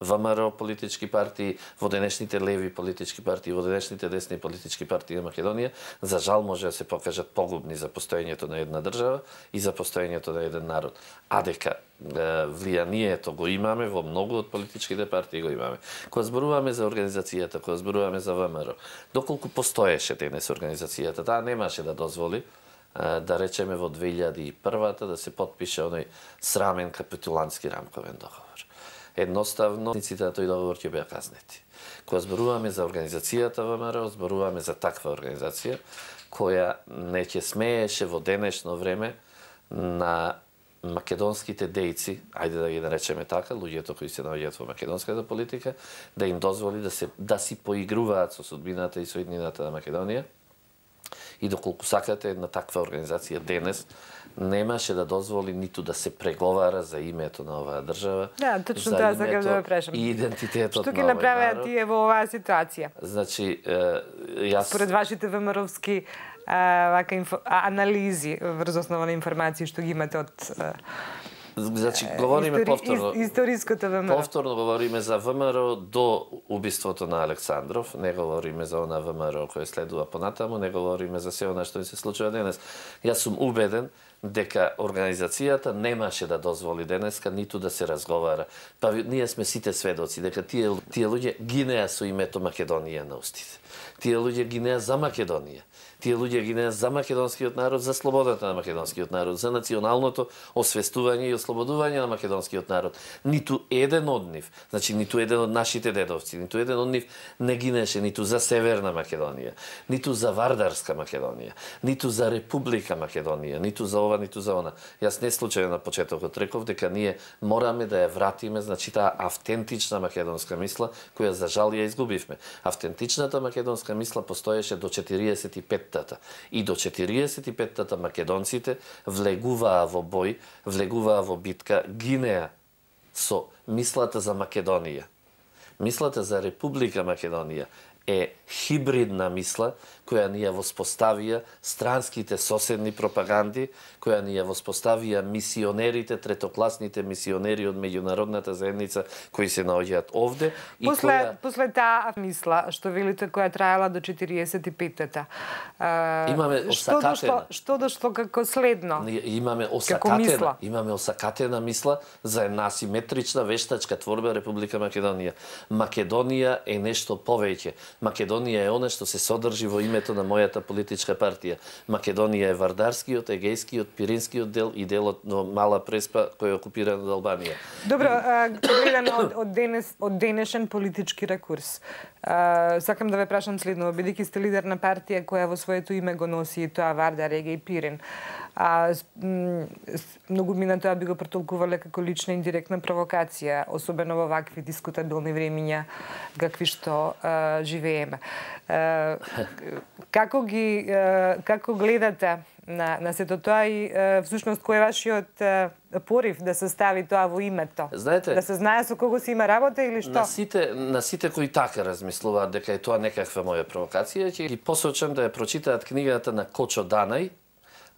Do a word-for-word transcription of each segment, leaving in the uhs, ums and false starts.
ВМРО политички партии, во денешните леви политички партии, во денешните десни политички партии на Македонија, за жал може да се покажат погубни за постоењето на една држава и за постоењето на еден народ. А дека влијанието го имаме во многу од политичките партии го имаме. Кога зборуваме за организацијата, кога зборуваме за ВМРО, доколку постоеше денес организацијата, таа немаше да дозволи да речеме во две илјади и прва да се потпише оној срамен капитулантски рамковен договор. Едноставно, ниците на тој договор ќе беа казнети. Кога зборуваме за организацијата ВМРО, зборуваме за таква организација која не ќе смееше во денешно време на македонските дејци, ајде да ги наречеме така, луѓето кои се наоѓаат во македонската политика, да им дозволи да се да си поигруваат со судбината и со иднината на Македонија. И доколку сакате една таква организација денес немаше да дозволи ниту да се преговара за името на оваа држава. Да, точно тоа сакам да ве прашам. И идентитетот Што на ги овој направеа народ. тие во оваа ситуација? Значи, јас Според вашите ВМРО-вски вака инфо, анализи врз основа на информации што ги имате од Значи, говориме истори, повторно. Историското ВМРО. Повторно говориме за ВМРО до убиството на Александров, не говориме за она ВМРО кој следува понатаму, не говориме за се она што ни се случува денес. Јас сум убеден дека организацијата немаше да дозволи денеска ниту да се разговара. Па ние сме сите сведоци дека тие тие луѓе гинеа со името Македонија на устите. Тие луѓе гинеа за Македонија. Тие луѓе гинеа за македонскиот народ, за слободата на македонскиот народ, за националното освестување и ослободување на македонскиот народ. Ниту еден од нив, значи ниту еден од нашите дедовци, ниту еден од нив не гинеше ниту за Северна Македонија, ниту за Вардарска Македонија, ниту за Република Македонија, ниту за ова, ниту за она. Јас не случајно на почетокот реков дека ние мораме да ја вратиме, значи таа автентична македонска мисла, која за жал ја изгубивме. Автентичната македонска мисла постоеше до четириесет и петта. И до четириесет и петтата македонците влегуваа во бој, влегуваа во битка, гинеа со мислата за Македонија. Мислата за Република Македонија е хибридна мисла која ни ја воспоставија странските соседни пропаганди, која ни ја воспоставија мисионерите, третокласните мисионери од меѓународната заедница кои се наоѓаат овде и после која... после таа мисла што велите која траела до четириесет и петтата. Имаме осакатена. Што дошло, што дошло како следно? Имаме осакатена, имаме осакатена мисла за една асиметрична вештачка творба Република Македонија. Македонија е нешто повеќе. Македонија е она што се содржи во името на мојата политичка партија. Македонија е Вардарскиот, Егејскиот, Пиринскиот дел и делот на Мала Преспа кој е окупиран од Албанија. Добро, гледано од, од, денес, од денешен политички ракурс. А, сакам да ве прашам следно, бидејќи сте лидер на партија која во своето име го носи тоа Вардар, Егеј, Пирин. А, многу мина тоа би го претолкувале како лична индиректна провокација, особено во вакви дискутабилни времиња какви што а, живееме. А, како ги а, како гледате на на сето тоа и а, всушност кој е вашиот а, порив да се стави тоа во името? Знаете, да се знае со кого се има работа или што? На сите на сите кои така размислуваат дека е тоа некаква моја провокација, ќе ги посочам да ја прочитаат книгата на Кочо Данај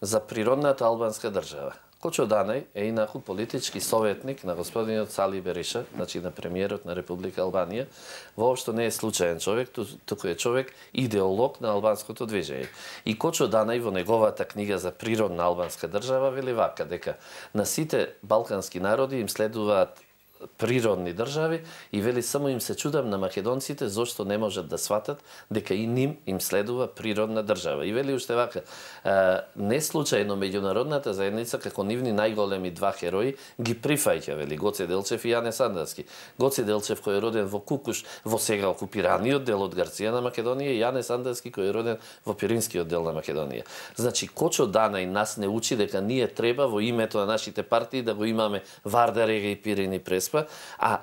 за природната албанска држава. Кочо Данај е инаку политички советник на господинот Сали Бериша, значи на премиерот на Република Албанија. Воопшто не е случаен човек, туку е човек идеолог на албанското движење. И Кочо Данај во неговата книга за природна албанска држава вели вака дека на сите балкански народи им следуваат природни држави и вели само им се чудам на македонците зошто не можат да сватат дека и ним им следува природна држава. И вели уште вака, а, не случајно меѓународната заедница како нивни најголеми два херои ги прифаќа, вели Гоце Делчев и Јане Сандерски. Гоце Делчев кој е роден во Кукуш, во сега окупираниот дел од Грција на Македонија, и Јане Сандерски кој е роден во Пиринскиот дел на Македонија. Значи Кочо Данај нас не учи дека ние треба во името на нашите партии да го имаме Вардар, Егеј, Пирин и Преспа, а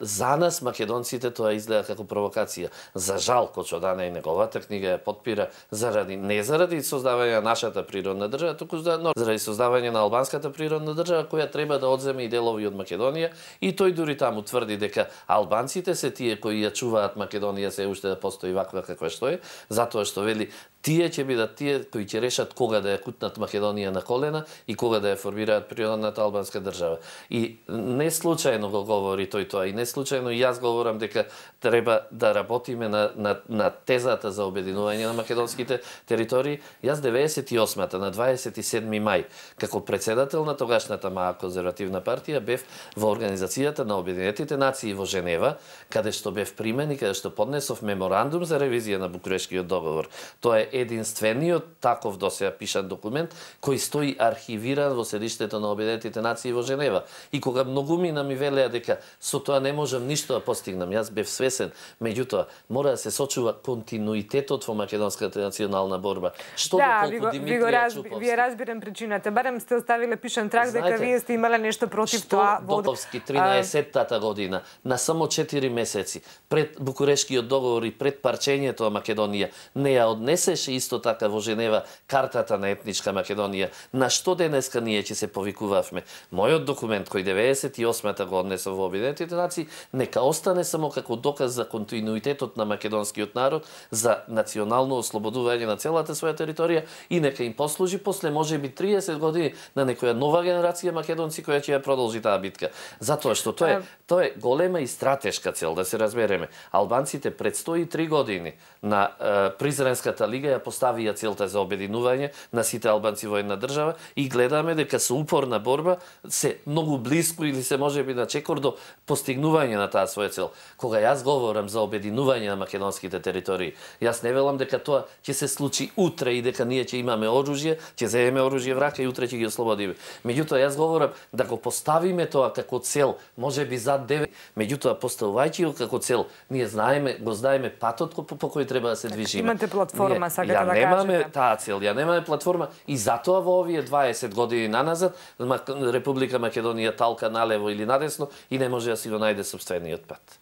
за нас македонците тоа изгледа како провокација. За жал Кочо Данај неговата книга ја потпира заради не заради создавање на нашата природна држава, туку заради создавање на албанската природна држава која треба да одземе и делови од Македонија, и тој дури таму тврди дека албанците се тие кои ја чуваат Македонија се уште да постои ваква каква што е, затоа што вели тие ќе бидат тие кои ќе решат кога да ја кутнат Македонија на колена и кога да ја формираат природната албанска држава. И не случајно случајно го говори тој тоа и не случајно и јас говорам дека треба да работиме на, на, на тезата за обединување на македонските територии. Јас деветесет и осмата на дваесет и седми мај како председател на тогашната МААК конзервативна партија бев во Организацијата на Обединетите нации во Женева, каде што бев примен и каде што поднесов меморандум за ревизија на Букурешкиот договор. Тоа е единствениот таков досега пишан документ кој стои архивиран во седиштето на Обединетите нации во Женева. И кога многумина ми велеа дека со тоа не можам ништо да постигнам, јас бев свесен, меѓутоа мора да се сочува континуитетот во македонската национална борба. Што да, доколку ви, Димитрија ви, раз, Чуповски. вие разбирам причината. Барем сте оставиле пишан трак дека вие сте имале нешто против што тоа. Што Доковски тринаесеттата година, на само четири месеци, пред Букурешкиот договор и пред парчењето на Македонија, не ја однесеше исто така во Женева картата на етничка Македонија, на што денеска ние ќе се повикувавме. Мојот документ кој деветесет и осмата го однесов во Обединетите нации, нека остане само како доказ за континуитетот на македонскиот народ, за национално ослободување на целата своја територија и нека им послужи после можеби триесет години на некоја нова генерација македонци која ќе ја продолжи таа битка. Затоа што тоа е, тоа е голема и стратешка цел, да се разбереме. Албанците пред сто и три години на е, Призренската лига ја поставија целта за обединување на сите албанци во една држава и гледаме дека со упорна борба се многу блиску или се можеби на чекор до постигнување на таа своја цел. Кога јас говорам за обединување на македонските територии, јас не велам дека тоа ќе се случи утре и дека ние ќе имаме оружје, ќе земеме оружје в рака и утре ќе ги ослободиме. Меѓутоа јас говорам да го поставиме тоа како цел, можеби за девет, меѓутоа поставувајќи го како цел, ние знаеме, го знаеме патот по, по кој треба да се движиме. Имате платформа, сакате да кажете. Ја немаме таа цел, ја немаме платформа и затоа во овие дваесет години наназад Република Македонија талка налево или надесно и не може да си го најде собствениот пат.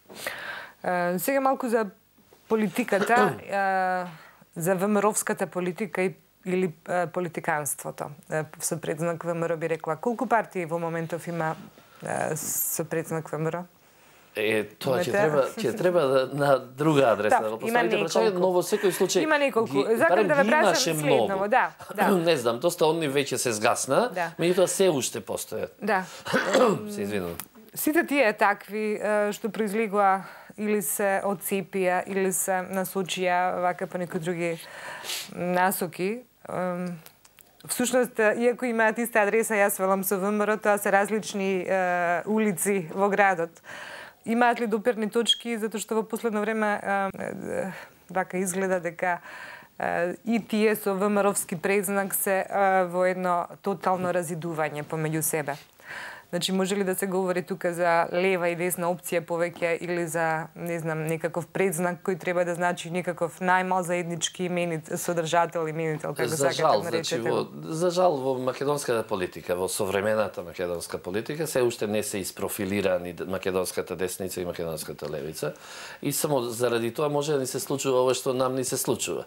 Uh, сега малку за политиката, uh, за ВМРО-вската политика и или uh, политиканството. Uh, со предзнак ВМРО би рекла. Колку партии во моментов има uh, со предзнак ВМРО? Е, тоа ќе треба, ќе треба да, на друга адреса да, да го поставите прашање, но во секој случај има неколку. Сакам да ве прашам следново, да, да. Не знам, доста онни веќе се згасна, да. Меѓутоа се уште постојат. Да. Се извинувам. Сите тие такви што произлегува или се одцепија или се насочија вака по некои други насоки. Всушност, иако имаат иста адреса, јас велам со ВМРО, тоа се различни е, улици во градот. Имаат ли доперни точки, затоа што во последно време е, вака изгледа дека е, и тие со ВМРО-вски предзнак се е, во едно тотално разидување помеѓу себе. Значи, може ли да се говори тука за лева и десна опција повеќе или за, не знам, некаков предзнак кој треба да значи некаков најмал заеднички именит, содржател, именител, како сакате да наречете? Значи, во, за жал, во македонската политика, во современата македонска политика, се уште не се испрофилирани македонската десница и македонската левица. И само заради тоа може да ни се случува ова што нам ни се случува.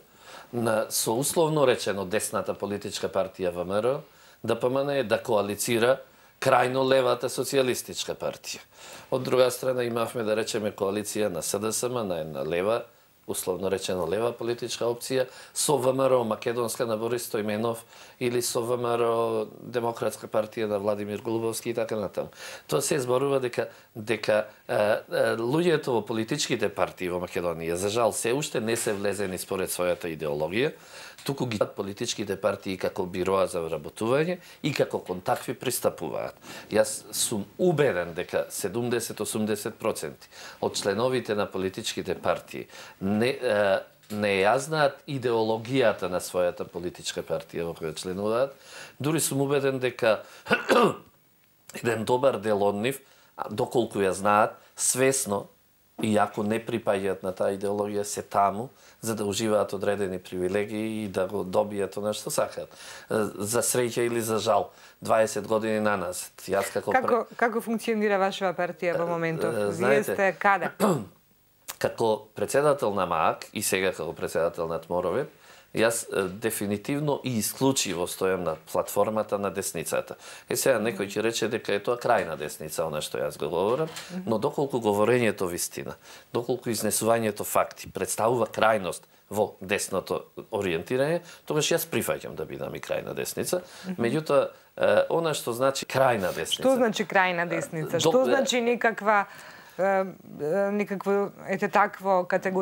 На, со условно речено десната политичка партија ВМРО, ДПМН е да коалицира крајно левата социјалистичка партија. Од друга страна имавме да речеме коалиција на СДСМ, на една лева, условно речено лева политичка опција, со ВМРО Македонска на Борис Стојменов или со ВМРО Демократска партија на Владимир Голубовски и така натаму. Тоа се зборува дека дека е, е, луѓето во политичките партии во Македонија за жал се уште не се влезени според својата идеологија, туку ги политичките партии како бироа за вработување и како кон такви пристапуваат. Јас сум убеден дека седумдесет до осумдесет проценти од членовите на политичките партии не, е, не ја знаат идеологијата на својата политичка партија во која членуваат. Дури сум убеден дека еден добар дел од нив, доколку ја знаат, свесно, иако не припаѓаат на таа идеологија, се таму, за да уживаат одредени привилегии и да го добијат она што сакаат. За среќа или за жал, дваесет години наназад. Јас како Како како функционира вашава партија во моментов? Вие сте каде? Како председател на МААК и сега како председател на Тморове, јас дефинитивно и исклучиво стојам на платформата на десницата. Е сега некој ќе рече дека е тоа крајна десница, она што јас го говорам, но доколку говорењето вистина, доколку изнесувањето факти представува крајност во десното ориентирање, тогаш јас прифаќам да бидам и крајна десница. Меѓутоа, она што значи крајна десница. Што значи крајна десница? Што значи некаква некакво ете такво категорија